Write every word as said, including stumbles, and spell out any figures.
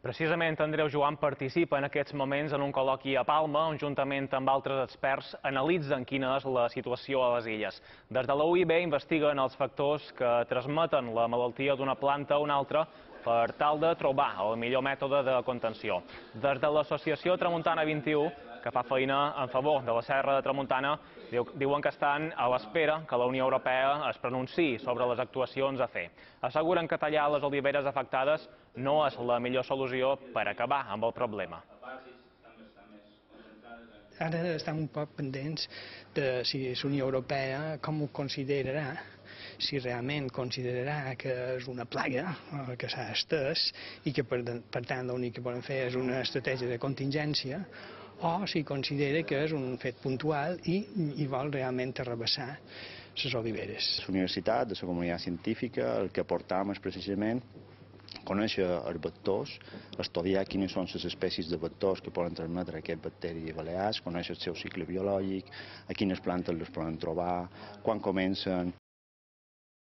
Precisament Andreu Joan participa en aquests moments en un col·loqui a Palma, on juntament amb altres experts analitzen quina és la situació a les illes. Des de la U I B investiguen els factors que transmeten la malaltia d'una planta a una altra per tal de trobar el millor mètode de contenció. Des de l'associació Tramuntana vint i u, que fa feina en favor de la Serra de Tramuntana, diuen que estan a l'espera que la Unió Europea es pronunciï sobre les actuacions a fer. Asseguren que tallar les oliveres afectades no és la millor solució per acabar amb el problema. Ara estem un poc pendents de si la Unió Europea com ho considerarà, si realment considerarà que és una plaga que s'ha estès i que per tant l'únic que poden fer és una estratègia de contingència, o si considera que és un fet puntual i, i vol realment arrabassar les oliveres. La universitat, de la comunitat científica, el que portam és precisament conèixer els vectors, estudiar quines són les espècies de vectors que poden transmetre aquest bacteri balears, conèixer el seu cicle biològic, a quines plantes les poden trobar, quan comencen,